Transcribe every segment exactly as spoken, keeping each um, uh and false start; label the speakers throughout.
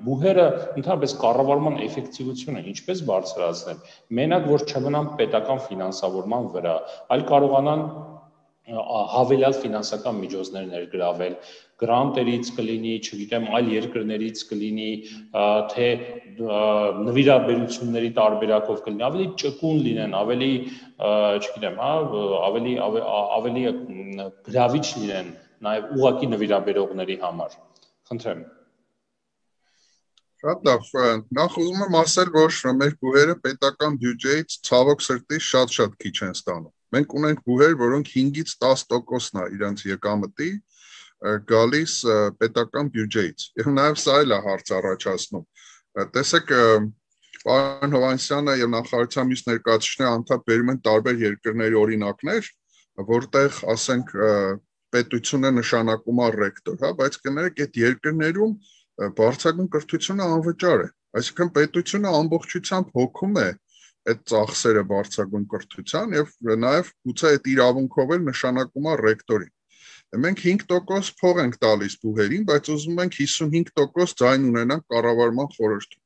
Speaker 1: Բուհերը ընդհանրապես կառավարման էֆեկտիվությունը ինչպես բարձրացնել, մենակ որ չմնան պետական ֆինանսավորման վրա, այլ կարողանան հավելյալ ֆինանսական միջոցներ ներգրավել, գրանտերից կլինի, չգիտեմ, այլ երկրներից կլինի, թե նվիրաբերությունների տարբերակով կլինի, ավելի ճկուն լինեն, ավելի, չգիտեմ, հա, ավելի ավելի գրավիչ լինեն նաև ուղղակի նվիրաբերողների համար։ Խնդրեմ։
Speaker 2: Շատ լավ, նախ ուզում եմ ասել, որ մեր բուհերը պետական բյուջեից ցավոք սրտի շատ-շատ քիչ են ստանում։ Մենք ունենք բուհեր, որոնք հինգից տաս տոկոսն է իրենց եկամտի գալիս պետական բյուջեից։ Եվ նաև սա էլ է հարց առաջացնում։ Տեսեք, պարոն Հովհաննիսյանը եւ նախարարության մյուս ներկայացուցիչները անդադար բերում են տարբեր երկրների օրինակներ, որտեղ, ասենք, պետությունը նշանակում է ռեկտոր, հա, բայց կներեք, այդ երկրներում բարձրագույն կրթությունը անվճար է, այսինքն պետությունը ամբողջությամբ հոգում է այդ ծախսերը բարձրագույն կրթության եւ նաեւ գուցե այդ իրավունքով էլ նշանակում է ռեկտորին։ Մենք հինգ տոկոս փող ենք տալիս բուհերին, բայց ուզում ենք հիսունհինգ տոկոս ձայն ունենանք կառավարման խորհրդում։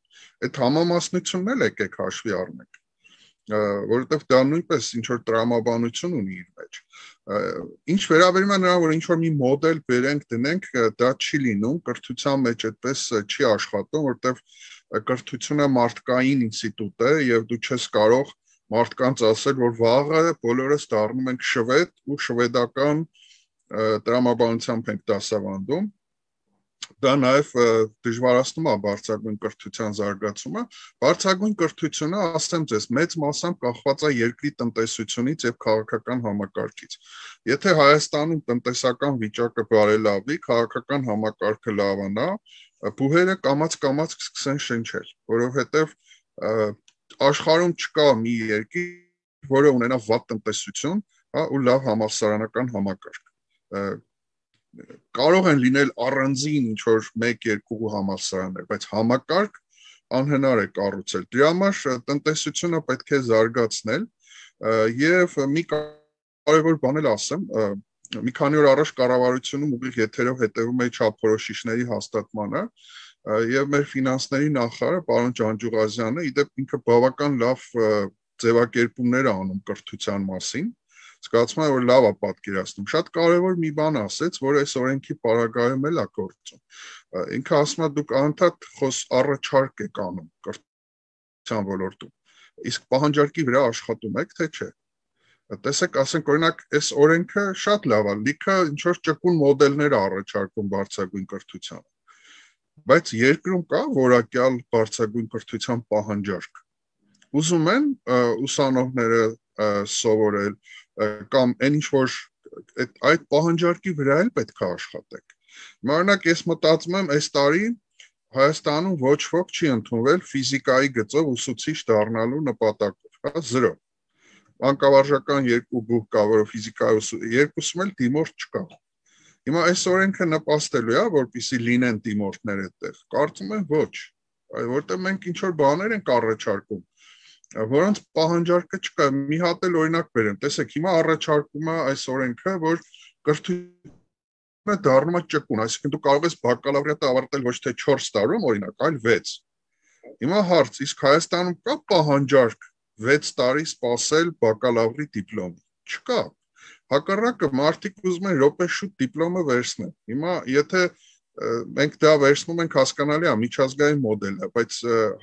Speaker 2: Այդ համամասնությունն էլ եկեք հաշվի առնենք, որովհետեւ դա նույնպես ինչ որ տրամաբանություն ունի իր մեջ։ Ինչ վերաբերում է նրան, որ ինչ որ մի մոդել բերենք դնենք, դա չի լինում, կրթության մեջ այդպես չի աշխատում, որտեվ կրթությունը մարդկային ինստիտուտ է եւ դու չես կարող մարդկանց ասել, որ վաղը բոլորս դառնում ենք շվեդ ու շվեդական տրամաբանությամբ ենք դասավանդում։ Դա նաև դժվարացնում է բարձրագույն կրթության զարգացումը։ Բարձրագույն կրթությունը, ասեմ ձեզ, մեծ մասամբ կախված է երկրի տնտեսությունից եւ քաղաքական համակարգից։ Եթե Հայաստանում տնտեսական վիճակը բարելավի, քաղաքական համակարգը լավանա, բուհերը կամաց-կամաց կսկսեն շնչել, որովհետեւ աշխարհում չկա մի երկիր, որը ունենա վատ տնտեսություն, հա, ու լավ համալսարանական համակարգ։ Կարող են լինել առանձին ինչ-որ մեկ-երկու համալսարաններ, բայց համակարգ անհնար է կառուցել։ Դրա համար տնտեսությունը պետք է զարգացնել եւ մի կարևոր բան էլ ասեմ, մի քանի օր առաջ կառավարությունում ուղիղ եթերով հետևում էի չափորոշիչների հաստատմանը եւ մեր ֆինանսների նախարարը պարոն Ջանջուղազյանը իդեպ ինքը բավական լավ ձևակերպումներ է անում կրթության մասին։ Զգացում է, որ լավ է պատկերացնում։ Շատ կարևոր մի բան ասեց, որ այս օրենքի պարագայում էլ է գործում։ Ինքը ասում է, դուք անդադ խոս առաջարկ եք անում կրթության ոլորտում։ Իսկ պահանջարկի վրա աշխատում եք, թե չէ։ Տեսեք, ասենք, օրինակ, այս օրենքը շատ լավ է, լիքը ինչ-որ ճկուն մոդելներ է առաջարկում բարձրագույն կրթությանը։ Բայց երկրում կա որակյալ բարձրագույն կրթության պահանջարկ։ Ուզում են ուսանողները սովորել կամ այն ինչ որ այդ պահանջարկի վրա էլ պետք է աշխատեք։ Օրինակ, ես մտածում եմ, այս տարի Հայաստանում ոչ ոք չի ընդունվել ֆիզիկայի գծով ուսուցիչ դառնալու նպատակով, հա, զրո։ Մանկավարժական երկու բուհ կա, որը ֆիզիկայի երկուսում էլ դիմորդ չկա։ Հիմա այս օրենքը նպաստելու է, որպեսզի լինեն դիմորդներ այդտեղ։ Կարծում եմ ոչ, որտեղ մենք ինչ որ բաներ ենք առաջարկում, որոնց պահանջարկը չկա։ Մի հատ էլ օրինակ բերեմ, տեսեք, հիմա առաջարկում է այս օրենքը, որ կրթությունը դառնում է ճկուն, այսինքն դու կարող ես բակալավրիատը ավարտել ոչ թե չորս տարում, օրինակ, այլ վեց։ Հիմա հարց, իսկ Հայաստանում կա պահանջարկ վեց տարի սպասել բակալավրի դիպլոմի։ Չկա։ Հակառակը մարդիկ ուզում են րոպե շուտ դիպլոմը վերցնել։ Հիմա եթե մենք դա վերցնում ենք, հասկանալի է, միջազգային մոդել է, բայց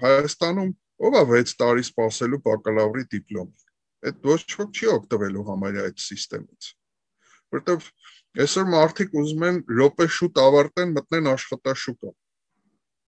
Speaker 2: Հայաստանում ով է վեց տարի սպասելու բակալավրի դիպլոմի։ Այդ ոչ ոք չի օգտվելու համարյա այդ սիստեմից։ Որտեվ այսօր մարդիկ ուզում են րոպե շուտ ավարտեն, մտնեն աշխատաշուկա։